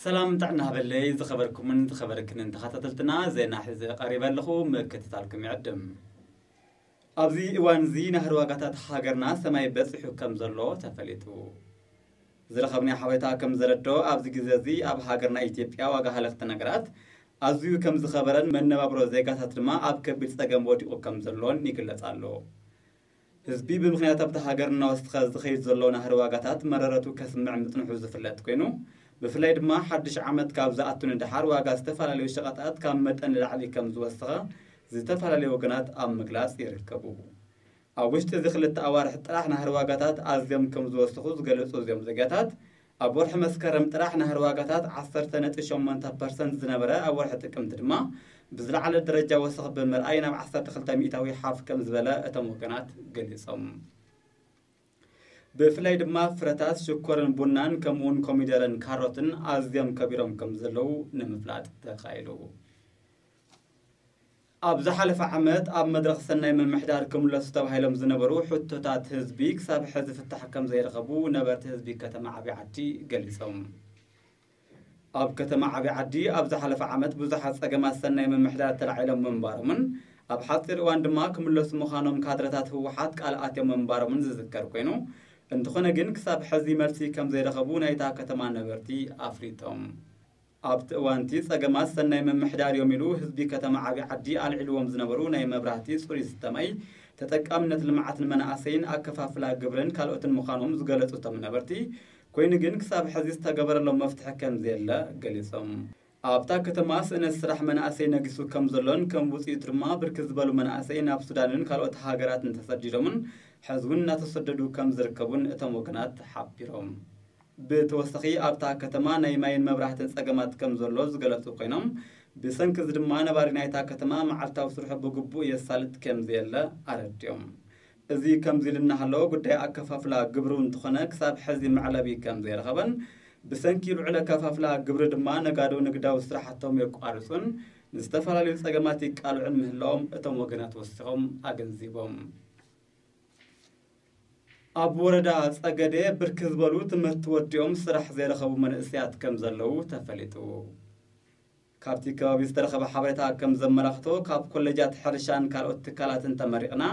ሰላም ጥዕና ሃበለይ ዝኸበርኩምን ዝኸበርክንን ተኸታተልትና፣ ዜና ሒዘ ቀሪበ ኣለኹ፣ ምክትታልኩም ይዕድም። ኣብዚ እዋን እዚ ናህሪ ዋጋታት ሃገርና ሰማይ በጺሑ ከም ዘሎ ተፈሊጡ። ዝረኸብናዮ ሓበሬታ ከም ዘረድኦ፣ ኣብዚ ግዜ እዚ ኣብ ሃገርና ኢትዮጵያ ዋጋ ሃለኽቲ ነገራት ኣዝዩ ከም ዝኸበረን መነባብሮ ዜጋታት ድማ ኣብ ከቢድ ጸገም ወዲቑ ከም ዘሎን ይግለጽ ኣሎ። ህዝቢ ብምኽንያት ኣብታ ሃገር እናወሰኸ ዝኸይድ ዘሎ ናህሪ ዋጋታት መረረቱ ከስምዕ ምጽንሑ ዝፍለጥ ኮይኑ፣ ብፍላይ ድማ ሓድሽ ዓመት ካብ ዝኣቱ ንደሓር ዋጋ ዝተፈላለዩ ሸቐጣት ካብ መጠን ንላዕሊ ከም ዝወሰኸ ዝተፈላለዩ ወገናት ኣብ ምግላጽ ይርከቡ። ኣብ ውሽጢ እዚ ክልተ ኣዋርሕ ጥራሕ ናህሪ ዋጋታት ኣዝዮም ከም ዝወሰኹ ዝገለጹ እዚኦም ዜጋታት፣ ኣብ ወርሒ መስከረም ጥራሕ ናህሪ ዋጋታት ዓሰርተ ነጥቢ ሸሞንተ ፐርሰንት ዝነበረ፣ ኣብ ወርሒ ጥቅምቲ ድማ ብዝለዓለ ደረጃ ወሰኽ ብምርኣይ ናብ ዓሰርተ ክልተ ሚእታዊ ሓፍ ከም ዝበለ እቶም ወገናት ገሊጾም። ብፍላይ ድማ ፍረታት፣ ሽኮርን ቡናን ከምኡውን ኮሚደረን ካሮትን ኣዝዮም ከቢሮም ከም ዘለዉ ንምፍላጥ ተኻኢሉ። ኣብ ዝሓለፈ ዓመት ኣብ መድረኽ ሰናይ ምምሕዳር ክምለሱ ተባሂሎም ዝነበሩ ሕቶታት ህዝቢ ክሳብ ሕዚ ፍታሕ ከም ዘይረኸቡ ነበርቲ ህዝቢ ከተማ ዓብዪ ዓዲ ገሊጾም። ኣብ ከተማ ዓብዪ ዓዲ ኣብ ዝሓለፈ ዓመት ብዙሓት ጸገማት ሰናይ ምምሕዳር ተላዒሎም ምንባሮምን ኣብ ሓጺር እዋን ድማ ክምለሱ ምዃኖም ካድረታት ህወሓት ቃል ኣትዮም ምንባሮምን ዝዝከር ኮይኑ፣ እንተኾነ ግን ክሳብ ሕዚ መልሲ ከም ዘይረኸቡ ናይታ ከተማ ነበርቲ ኣፍሊጦም። ኣብቲ እዋንቲ ጸገማት ሰናይ ምምሕዳር እዮም ኢሉ ህዝቢ ከተማ ዓብዪ ዓዲ ኣልዒልዎም ዝነበሩ ናይ መብራህቲ፣ ጽሩይ ዝስተ ማይ፣ ተጠቃምነት ልምዓትን መናእሰይን ኣከፋፍላ ግብርን ካልኦትን ምዃኖም ዝገለጹ እቶም ነበርቲ፣ ኮይኑ ግን ክሳብ ሕዚ ዝተገበረሎም መፍትሒ ከም ዘየለ ገሊጾም። ኣብታ ከተማ ስእነት ስራሕ መናእሰይ ነጊሱ ከም ዘሎን ከም ውጽኢቱ ድማ ብርክት ዝበሉ መናእሰይ ናብ ሱዳንን ካልኦት ሃገራትን ተሰዲዶምን ሕዚ እውን እናተሰደዱ ከም ዝርከቡን እቶም ወገናት ሓቢሮም። ብተወሳኺ ኣብታ ከተማ ናይ ማይን መብራህትን ጸገማት ከም ዘሎ ዝገለጹ ኮይኖም፣ ብሰንኪ እዚ ድማ ነባሪ ናይታ ከተማ መዓልታዊ ስርሑ ብግቡእ የሳልጥ ከም ዘየለ ኣረዲኦም። እዚ ከምዚ ኢሉ እናሃለወ ጉዳይ ኣከፋፍላ ግብሩ እንተኾነ ክሳብ ሕዚ መዕለቢ ከም ዘይረኸበን ብሰንኪ ልዑል ኣከፋፍላ ግብሪ ድማ ነጋዶ ንግዳዊ ስራሕቶም የቋርጹን ንዝተፈላለዩ ጸገማት ይቃልዑን ምህላዎም እቶም ወገናት ወሲኾም ኣገንዚቦም። ኣብ ወረዳ ጸገዴ ብርክት ዝበሉ ትምህርቲ ወዲኦም ስራሕ ዘይረኸቡ መንእሰያት ከም ዘለዉ ተፈሊጡ። ካብቲ ከባቢ ዝተረኸበ ሓበሬታ ከም ዘመላኽቶ፣ ካብ ኮሌጃት ሕርሻን ካልኦት ትካላትን ተመሪቕና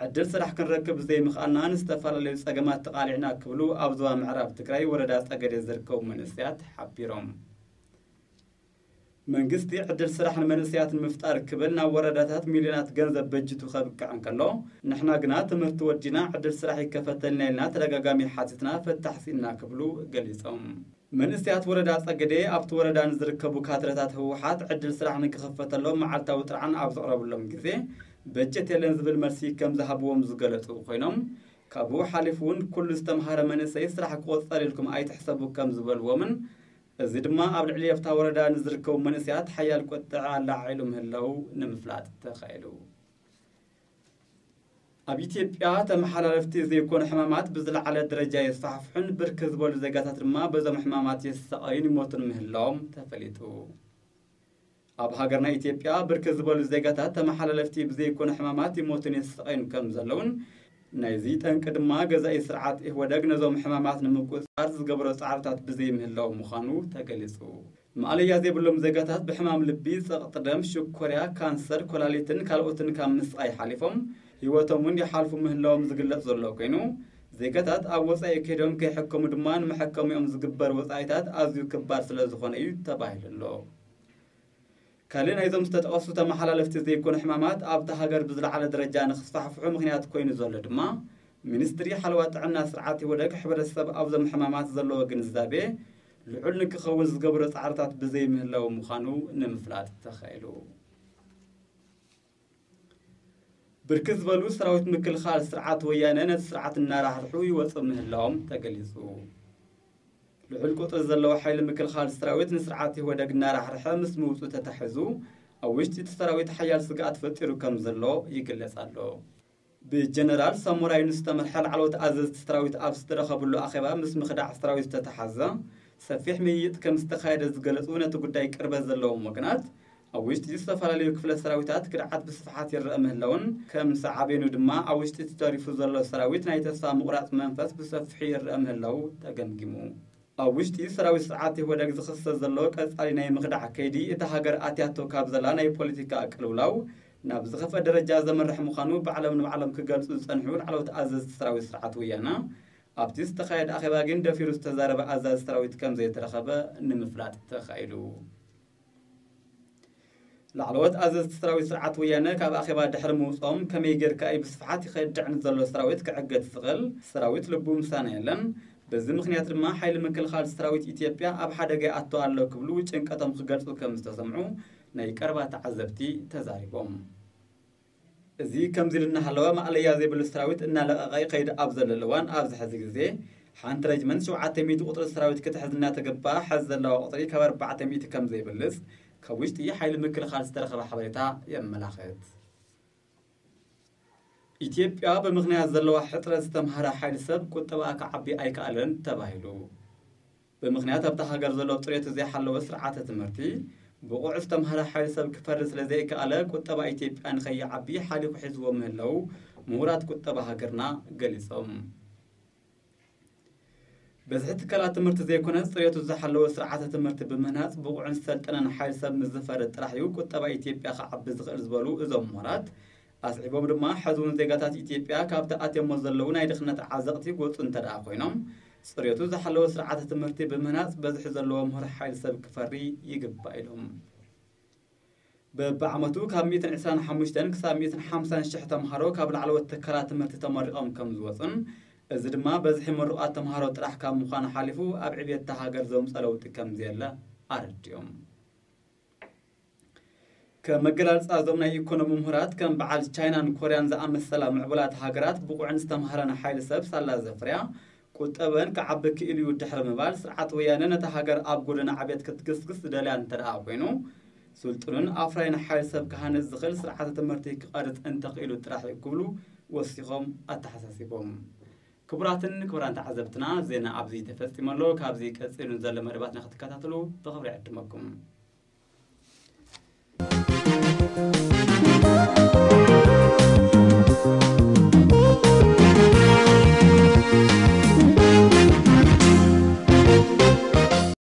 ዕድል ስራሕ ክንረክብ ዘይምኽኣልና ንዝተፈላለዩ ጸገማት ተቓሊዕና ክብሉ ኣብ ዞባ ምዕራብ ትግራይ ወረዳ ጸገዴ ዝርከቡ መንእሰያት ሓቢሮም። መንግስቲ ዕድል ስራሕ ንመንእሰያት ንምፍጣር ክብል ናብ ወረዳታት ሚልዮናት ገንዘብ በጅቱ ከብቅዕ እንከሎ፣ ንሕና ግና ትምህርቲ ወዲና ዕድል ስራሕ ይከፈተልና ኢልና ተደጋጋሚ ሓቲትና ፍታሕ ስኢንና ክብሉ ገሊጾም። መንእሰያት ወረዳ ጸገዴ ኣብቲ ወረዳ ንዝርከቡ ካድረታት ህወሓት ዕድል ስራሕ ንክኽፈተሎም መዓልታዊ ጥርዓን ኣብ ዘቕረብሎም ግዜ፣ በጀት የለን ዝብል መልሲ ከም ዝሃብዎም ዝገለጹ ኮይኖም፣ ካብኡ ሓሊፉ እውን ኩሉ ዝተምሃረ መንእሰይ ስራሕ ክቆጸር ኢልኩም ኣይትሕሰቡ ከም ዝበልዎምን፣ እዚ ድማ ኣብ ልዕሊ ኣብታ ወረዳ ንዝርከቡ መንእሰያት ሓያል ቁጥዐ ኣላዒሉ ምህላው ንምፍላጥ ተኻኢሉ። ኣብ ኢትዮጵያ ተመሓላለፍቲ ዘይኮኑ ሕማማት ብዝለዓለ ደረጃ የስፋሕፍሑን ብርክት ዝበሉ ዜጋታት ድማ በዞም ሕማማት ይሳቐዩን ይሞቱን ምህላዎም ተፈሊጡ። ኣብ ሃገርና ኢትዮጵያ ብርክት ዝበሉ ዜጋታት ተመሓላለፍቲ ብዘይኮኑ ሕማማት ይሞቱን ይሳቐዩን ከም ዘለውን፣ ናይዚ ጠንቂ ድማ ገዛኢ ስርዓት ኢህወደግ ነዞም ሕማማት ንምቁጽጻር ዝገበሮ ጻዕርታት ብዘይምህላው ምዃኑ ተገሊጹ። ማእለያ ዘይብሎም ዜጋታት ብሕማም ልቢ፣ ጸቕጢ ደም፣ ሽኮርያ፣ ካንሰር፣ ኮላሊትን ካልኦትን ካብ ምስቓይ ሓሊፎም ህይወቶም እውን ይሓልፉ ምህላዎም ዝግለጽ ዘሎ ኮይኑ፣ ዜጋታት ኣብ ወጻኢ ከይዶም ከይሕከሙ ድማ ንመሐከሚኦም ዝግበር ወጻኢታት ኣዝዩ ክባር ስለ ዝኾነ እዩ ተባሂሉ ኣሎ። ካልእ ናይዞም ዝተጠቐሱ ተመሓላለፍቲ ዘይኮኑ ሕማማት ኣብታ ሃገር ብዝለዓለ ደረጃ ንክስፋሕፍሑ ምኽንያት ኮይኑ ዘሎ ድማ፣ ሚኒስትሪ ሓለዋ ጥዕና ስርዓት ኢህወደግ ሕብረተሰብ ኣብዞም ሕማማት ዘለዎ ግንዛቤ ልዑል ንክኸውን ዝገብሮ ጻዕርታት ብዘይምህላው ምዃኑ ንምፍላጥ ተኻኢሉ። ብርክት ዝበሉ ሰራዊት ምክልኻል ስርዓት ወያነ ነቲ ስርዓት እናራሕርሑ ይወፁ ምህላዎም ተገሊፁ። ልዑል ቁፅሪ ዘለዎ ሓይሊ ምክልኻል ሰራዊት ንስርዓት ኢህወደግ እናራሕርሐ ምስ ምውፁ ተታሒዙ ኣብ ውሽጢ እቲ ሰራዊት ሓያል ስግኣት ፈጢሩ ከም ዘሎ ይግለጽ ኣሎ። ብጀነራል ሳሞራ ዩኑስ ዝተመርሐ ላዕለዎት ኣዘዝቲ ሰራዊት ኣብ ዝተረኸብሉ ኣኼባ ምስ ምኽዳዕ ሰራዊት ዝተተሓዘ ሰፊሕ ምይይጥ ከም ዝተኻየደ ዝገለጹ ነቲ ጉዳይ ቅርበት ዘለዎም ወገናት፣ ኣብ ውሽጢ ዝተፈላለዩ ክፍለ ሰራዊታት ክድዓት ብስፍሓት ይረአ ምህላውን ከም ሳዕቤኑ ድማ ኣብ ውሽጢ ተሪፉ ዘሎ ሰራዊት ናይ ተስፋ ምቑራፅ መንፈስ ብሰፊሑ ይረአ ምህላው ተገምጊሙ። ኣብ ውሽጢ ሰራዊት ስርዓት ኢህወደግ ዝኽሰት ዘሎ ቀጻሊ ናይ ምኽዳዕ ከይዲ እታ ሃገር ኣትያቶ ካብ ዘላ ናይ ፖለቲካ ቅልውላው ናብ ዝኸፍአ ደረጃ ዘምርሕ ምዃኑ ባዕሎም ንባዕሎም ክገልጹ ዝጸንሑ ላዕለዎት ኣዘዝቲ ሰራዊት ስርዓት ወያነ፣ ኣብቲ ዝተኻየደ ኣኼባ ግን ደፊሩ ዝተዛረበ ኣዛዚ ሰራዊት ከም ዘይተረኸበ ንምፍላጥ ተኻኢሉ። ላዕለዎት ኣዘዝቲ ሰራዊት ስርዓት ወያነ ካብ ኣኼባ ድሕሪ ምውፅኦም ከመይ ጌርካ እዩ ብስፍሓት ይኸድዕ ንዘሎ ሰራዊት ክዕገት ዝኽእል ሰራዊት ልቡ ምሳና የለን፣ በዚ ምኽንያት ድማ ሓይሊ ምክልኻል ሰራዊት ኢትዮጵያ ኣብ ሓደጋ ይኣቱ ኣሎ ክብሉ ጭንቀቶም ክገልፁ ከም ዝተሰምዑ ናይ ቀረባ ተዓዘብቲ ተዛሪቦም። እዚ ከምዚ ኢሉ እናሃለወ ማእለያ ዘይብሉ ሰራዊት እናለቐቐ ይኸይድ ኣብ ዘለሉ እዋን ኣብዚ ሕዚ ግዜ ሓንቲ ረጅመንት ሸውዓተ ሚእቲ ቁፅሪ ሰራዊት ክትሕዝ እናተገባ ሕዚ ዘለዋ ቁፅሪ ካብ ኣርባዕተ ሚእቲ ከም ዘይብልፅ ካብ ውሽጢ ሓይሊ ምክልኻል ዝተረኸበ ሓበሬታ የመላኽት። ኢትዮጵያ ብምኽንያት ዘለዋ ሕፅረት ዝተምሃረ ሓይሊ ሰብ ቁጠባ ክዓቢ ኣይከኣለን ተባሂሉ። ብምኽንያት ኣብታ ሃገር ዘሎ ፅሬቱ ዘይሓለወ ስርዓተ ትምህርቲ ብቑዕ ዝተምሃረ ሓይሊ ሰብ ክፈሪ ስለ ዘይከኣለ ቁጠባ ኢትዮጵያ ንኸይዓቢ ሓሊኹ ሒዝዎ ምህላው ምሁራት ቁጠባ ሃገርና ገሊፆም። በዝሒ ትካላት ትምህርቲ ዘይኮነስ ፅሬቱ ዝሓለወ ስርዓተ ትምህርቲ ብምህናፅ ብቑዕን ዝሰልጠነን ሓይሊ ሰብ ምስ ዝፈሪ ጥራሕ እዩ ቁጠባ ኢትዮጵያ ክዓቢ ዝኽእል ዝበሉ እዞም ምሁራት ኣስዒቦም ድማ ሕዚ እውን ዜጋታት ኢትዮጵያ ካብቲ ኣትዮሞ ዘለዉ ናይ ድኽነት ዓዘቕቲ ክወፁ እንተደኣ ኮይኖም ፅሬቱ ዝሓለወ ስርዓተ ትምህርቲ ብምህናፅ በዝሒ ዘለዎ ምሁር ሓይሊ ሰብ ክፈሪ ይግባእ ኢሎም። በብዓመቱ ካብ ሚእትን ዕስራን ሓሙሽተን ክሳብ ሚእትን ሓምሳን ሽሕ ተምሃሮ ካብ ላዕለዎት ትካላት ትምህርቲ ተመሪቖም ከም ዝወፁን እዚ ድማ በዝሒ ምሩቓት ተምሃሮ ጥራሕ ካብ ምዃኑ ሓሊፉ ኣብ ዕብየት እታ ሃገር ዘምፀ ለውጢ ከም ዘየለ ኣረዲኦም። ከም መገላልፃ እዞም ናይ ኢኮኖሚ ምሁራት ከም በዓል ቻይናን ኮርያን ዝኣመሰላ ምዕቡላት ሃገራት ብቑዕን ዝተምሃረን ሓይሊ ሰብ ሳላ ዘፍርያ ቁጠበን ክዓቢ ክኢሉ እዩ ድሕሪ ምባል ስርዓት ወያነ ነታ ሃገር ኣብ ጎደና ዕብየት ክትግስግስ ዝደልያ እንተደኣ ኮይኑ ስልጡንን ኣፍራይን ሓይሊ ሰብ ክሃንፅ ዝኽእል ስርዓተ ትምህርቲ ክቐርፅ እንተኽኢሉ ጥራሕ እዩ ክብሉ ወሲኾም ኣተሓሳሲቦም። ክቡራትን ክቡራን ተዓዘብትና ዜና ኣብዚ ተፈፂሙ ኣሎ። ካብዚ ቀፂሉ ዘሎ መደባትና ክትከታተሉ ብኽብሪ ዕድመኩም።